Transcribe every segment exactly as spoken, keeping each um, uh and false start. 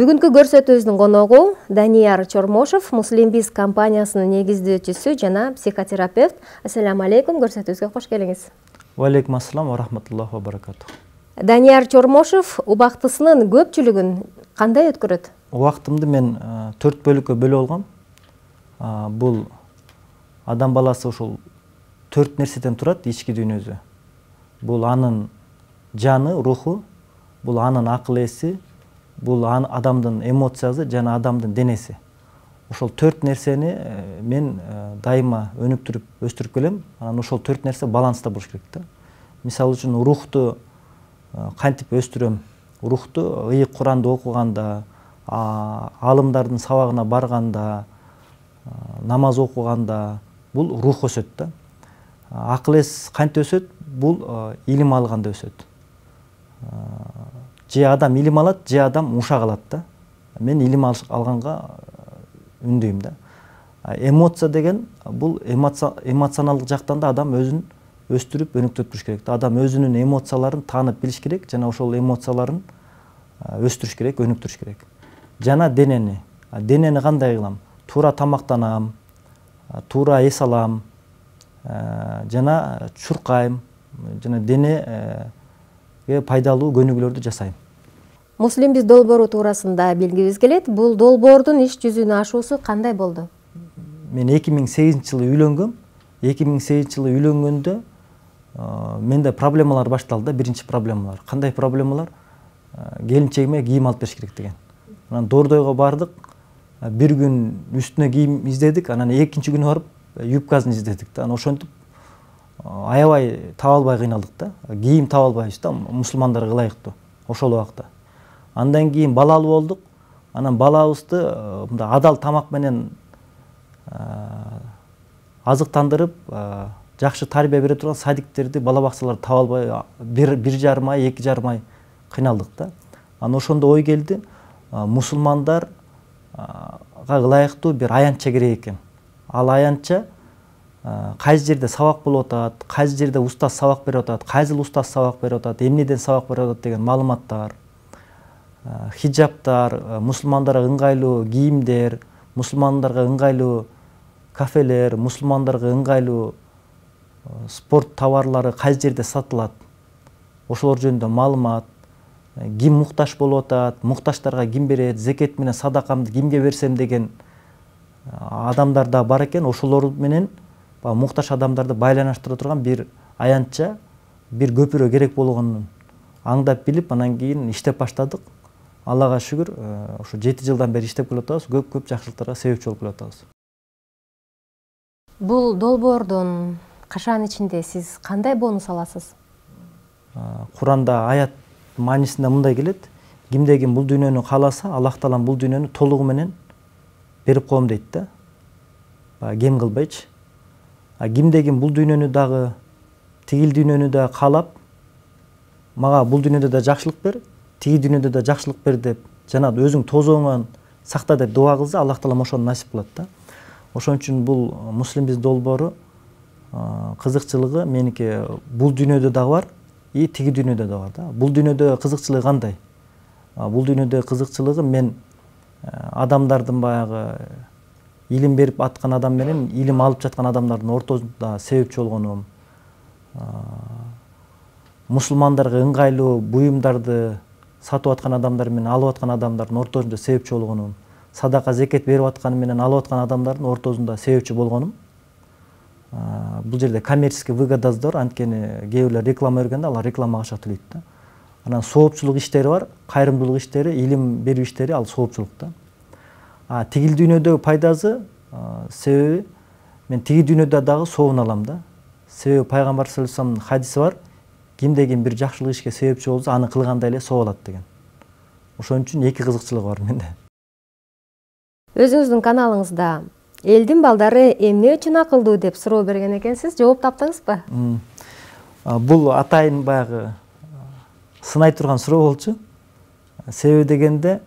Бүгүнкү көрсөтүүбүздүн коногу Данияр Чормошов, Муслимбиз компаниясынын негиздөөчүсү жана психотерапевт. Ассаламу алейкум, көрсөтүүбүзгө кош келиңиз. Ва алейкум ассалам ва рахматуллахи ва баракатух. Данияр Чормошов убактысынын көпчүлүгүн кандай өткөрөт? Убактымды мен төрт бөлүккө бөлүп алгам. Бул адам баласы ушул төрт нерседен турат, ички дүйнөсү. Бул анын жаны, руху, бул анын акыл эси, бул адамдын эмоциясы жана адамдын денеси. Ошол төрт нерсени мен дайыма өнүктүрүп, өстүрүп келем. Анан ошол төрт нерсе баланста болуш керек да. Мисалы үчүн рухту кантип өстүрөм? Рухту ыйык Куранды окуганда, алымдардын сабагына барганда, намаз окуганда бул рух өсөт да. Акыл эс кантип өсөт? Бул илим алганда өсөт. Же адам илим алат, же адам ушак алат да. Мен илим алганга үндөйм да. Эмоция деген бул эмоционалдык жактан да адам өзүн өстүрүп, өнүктүрүп туруш керек да. Адам өзүнүн эмоцияларын таанып билиш керек жана ошол эмоцияларын өстүрүш керек, өнүктүрүш керек. Жана денени. Денени кандай кылам? Туура тамактанам, туура эс алам, жана чуркайм, жана денеге пайдалуу көнүгүүлөрдү жасайм. Муслимбиз долбоору туурасында билгибиз келет. Бул долбоордун иш жүзүнө ашуусу кандай болду? Мен эки миң сегизинчи жылы үйлөнгөм. эки миң сегизинчи жылы үйлөнгөндө менде проблемалар башталды. Биринчи проблемалар. Кандай проблемалар? Келинчегиме кийим алып бериш керек деген. Анан Дордойго бардык. Бир күн үстүнө кийим издедик, анан экинчи күнү барып юбкасын издедик да. Анан ошентип аябай таба албай кыйналдык да. Кийим таба албайбыз да, мусулмандарга ылайыктуу ошол убакта. Андан кийин балалуу болдук. Анан балабызды мындай адал тамак менен азыктандырып, жакшы тарбия бере турган садиктерди, бала бакчаларды таба албай бир жарым ай, эки жарым ай кыйналдык да. Анан ошондо ой келди, мусулмандарга ылайыктуу бир аянтча керек экен. Ал аянтча кайсы жерде сабак болуп атат, кайсы жерде устаз сабак берип атат, кайсыл устаз сабак берип атат, эмнеден сабак берип атат деген маалыматтар, хиджаптар, мусулмандарга ыңгайлуу кийимдер, мусулмандарга ыңгайлуу кафелер, мусулмандарга ыңгайлуу спорт товарлары кайсы жерде сатылат, ошолор жөнүндө маалымат, ким муктаж болуп атат, муктаждарга ким берет, зекет менен садакамды кимге берсем деген адамдар да бар экен. Ошолор менен муктаж адамдарды байланыштыра турган бир аянтча, бир көпүрө керек болгонун аңдап билип, анан кийин иштеп баштадык. Аллага шүгүр, ошо жети жылдан бери иштеп келатабыз, көп-көп жакшылыктарга себепчи болуп келатабыз. Бул долбоордун кашаан ичинде сиз кандай бонус аласыз? Куранда аят маанисинде мындай келет: кимде ким бул дүйнөнү кааласа, Аллах Таалам бул дүйнөнү толугу менен берип коем дейт да. Кем кылбайчы. Кимде ким бул дүйнөнү дагы, тигил дүйнөнү да каалап, мага бул дүйнөдө да жакшылык бер, тиги дүйнөдө да жакшылык бер деп, жана өзүң тозооңон сакта деп дуа кылса, Аллах Таалам ошону насип кылат да. Ошон үчүн бул Муслимбиз долбоору кызыкчылыгы меники бул дүйнөдө дагы бар, и тиги дүйнөдө да бар да. Бул дүйнөдө кызыкчылыгы кандай? Бул дүйнөдө кызыкчылыгы мен адамдардын баягы илим берип аткан адам менен илим алып жаткан адамдардын ортосунда себепчи болгонум. Мусулмандарга ыңгайлуу буюмдарды сатып аткан адамдар менен алып аткан адамдардын ортосунда себепчи болгонум. Садака зекет берип аткан менен алып аткан адамдардын ортосунда себепчи болгонум. Бул жерде коммерческий выгодаздор, анткени кээ бирлер реклама бергенде алар рекламага акча төлөйт да. Анан соопчулук иштери бар, кайрымдуулук иштери, илим берүү иштери, ал соопчулук да. А тигил дүйнөдөгү пайдасы, себеби мен тиги дүйнөдө дагы соовун алам да. Себеби пайгамбар саллаллаху алейхи вассаламдын хадиси бар: кимде ким бир жакшылык ишке себепчи болсо, аны кылгандай эле соо алат деген. Ошон үчүн эки кызыкчылык бар менде. Өзүңүздүн каналыңызда элдин балдары эмне үчүн акылдуу деп суроо берген экенсиз, жооп таптыңызбы? Бул атайын баягы сынай турган суроо болчу. Себеби дегенде,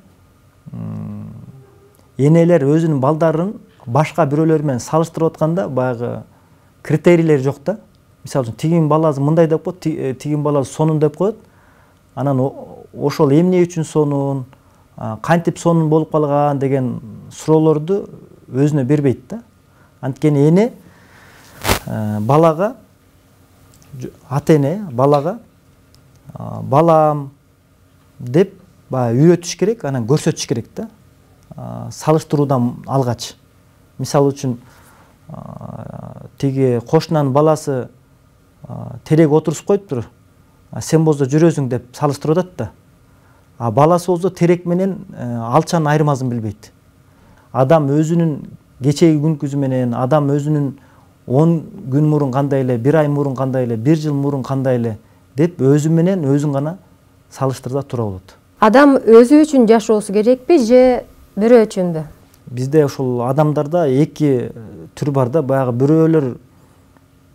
энелер өзүнүн балдарын башка бирөөлөр менен салыштырып атканда баягы критерийлер жок да. Мисалы үчүн тигин баласы мындай деп коет, тигин баласы сонун деп коет. Анан ошол эмне үчүн сонун, кантип сонун болуп калган деген суроолорду өзүнө бербейт да. Анткени эне балага, ата эне балага балам деп баягы үйрөтүш керек, анан көрсөтүш керек да. Салыштыруудан алгач. Мисалы үчүн тиги кошунанын баласы терек отурусуп коюптур. Сен болсо жүрөсүң деп салыштырып атат да. А баласы болсо терек менен алчанын айырмасын билбейт. Адам өзүнүн кечеги күнкүсү менен, адам өзүнүн он күн мурун кандай эле, бир ай мурун кандай эле, бир жыл мурун кандай эле деп өзү менен өзүн гана салыштырда тура болот. Адам өзү үчүн жашоосу керекпи же бирөө үчүнбү? Бизде ошол адамдарда эки түр бар да. Баягы бирөөлөр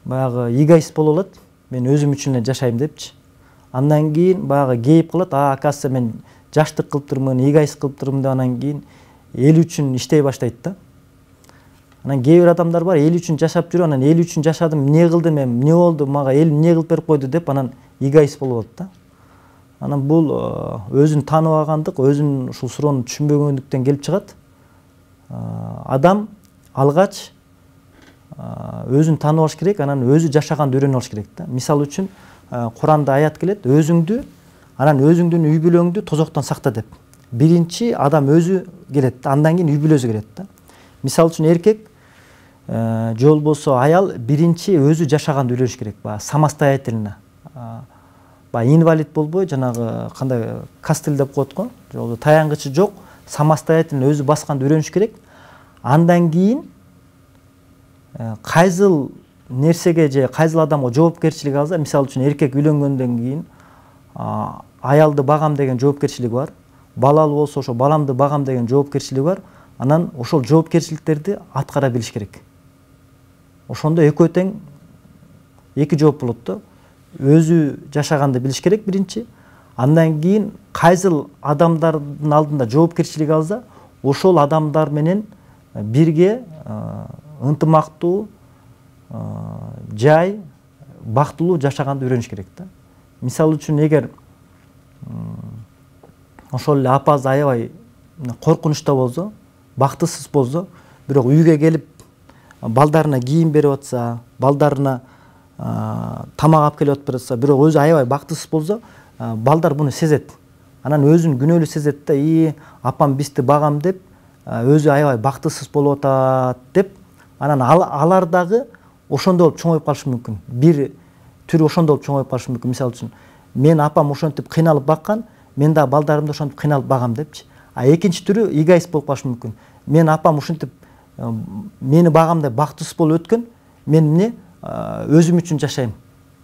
баягы эгоист болуп алат. Мен өзүм үчүн эле жашайм депчи. Андан кийин баягы кейип калат. А, оказывается, мен жаштык кылыптырмын, эгоист кылыптырмын деп анан кийин эл үчүн иштей баштайт да. Анан кээ бир адамдар бар, эл үчүн жашап жүрүп, анан эл үчүн жашадым, эмне кылдым, эмне болду, мага эл эмне кылып берип койду деп анан эгоист болуп алат да. Анан бул өзүн тааныбагандык, өзүн ушул суроону түшүнбөгөндүктөн келип чыгат. Адам алгач өзүн таанып алыш керек, анан өзү жашаганды үйрөнүп алыш керек да. Мисалы үчүн Куранда аят келет, өзүңдү, анан өзүңдүн үй бүлөңдү тозоктон сакта деп. Биринчи адам өзү келет, андан кийин үй бүлөсү келет да. Мисалы үчүн эркек же болбосо аял биринчи өзү жашаганды үйрөнүш керек, баягы самостоятельно. Баягы инвалид болбой, жанагы кандай кастель деп коет го, же болбосо таянгычы жок, самостоятельно өзү басканды үйрөнүш керек. Андан кийин кайсыл нерсеге же кайсыл адамга жоопкерчилик алса, мисалы үчүн эркек үйлөнгөндөн кийин аялды багам деген жоопкерчилиги бар. Балалы болсо ошо баламды багам деген жоопкерчилиги бар. Анан ошол жоопкерчиликтерди аткара билиш керек. Ошондо экөө тең эки жооп болот да. Өзү жашаганды билиш керек биринчи. Андан кийин кайсыл адамдардын алдында жоопкерчилик алса, ошол адамдар менен бирге ынтымактуу, жай, бактылуу жашаганды үйрөнүш керек да. Мисалы үчүн эгер ошол эле апасы аябай коркунучта болсо, бактысыз болсо, бирок үйгө келип балдарына кийим берип атса, балдарына тамак алып келип атса, бирок өзү аябай бактысыз болсо, балдар буну сезет. Анан өзүн күнөөлүү сезет да, "И, апам бизди багам" деп, өзү аябай бактысыз болуп атат деп, анан алар дагы ошондой болуп чоңоюп калышы мүмкүн. Бир түрү ошондой болуп чоңоюп калышы мүмкүн. Мисалы үчүн, мен апам ошентип кыйналып баккан, мен да балдарымды ошентип кыйналып багам депчи. А экинчи түрү эгоист болуп калышы мүмкүн. Мен апам ушинтип мени багам деп бактысыз болуп өткөн, мен эмне өзүм үчүн жашайм.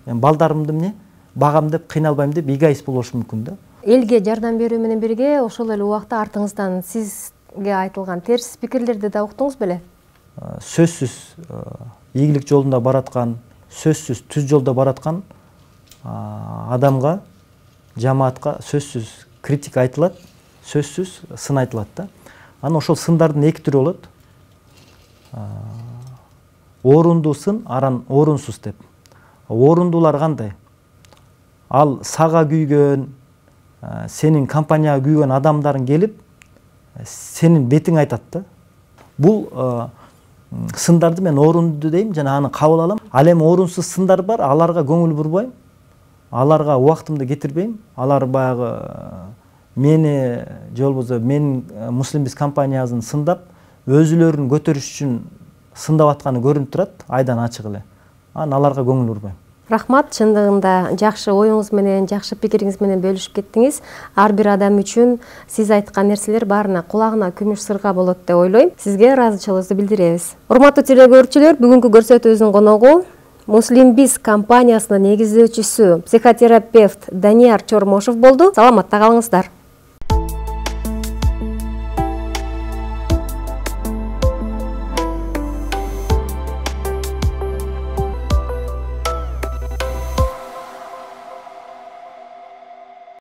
Мен балдарымды эмне багам деп кыйналбайм деп эгоист болушу мүмкүн да. Элге жардам берүү менен бирге ошол эле убакта артыңыздан сизге айтылган терс пикирлерди да уктуңуз беле? Сөзсүз ийгилик жолунда бараткан, сөзсүз түз жолдо бараткан адамга, жамаатка сөзсүз критика айтылат, сөзсүз сын айтылат да. Анан ошол сындардын эки түрү болот. Орунду сын, аран орунсуз деп. Орундуулар кандай? Ал сага күйгөн, сенин компанияга күйгөн адамдарын келип, сенин бетиң айтат да. Бул сындарды мен орунду дейм жана аны кабыл алам. Ал эми орунсуз сындар бар, аларга көңүл бурбайм. Аларга убактымды кетирбейм. Алар баягы мени же болбосо менин Муслимбиз компаниясын сындап, өзүлөрүн көтөрүш үчүн сындап атканы көрүнүп турат, айдан ачык эле. Анан аларга көңүл бурбайм. Рахмат, чындыгында жакшы оюңуз менен, жакшы пикириңиз менен бөлүшүп кеттиңиз. Ар бир адам үчүн сиз айткан нерселер баарына кулагына күмүш сырга болот деп ойлойм. Сизге ыраазычылыгыбызды билдиребиз. Урматтуу телекөрүүчүлөр, бүгүнкү көрсөтүүбүздүн коногу Муслимбиз компаниясынын негиздөөчүсү, психотерапевт Данияр Чормошов болду. Саламатта калыңыздар.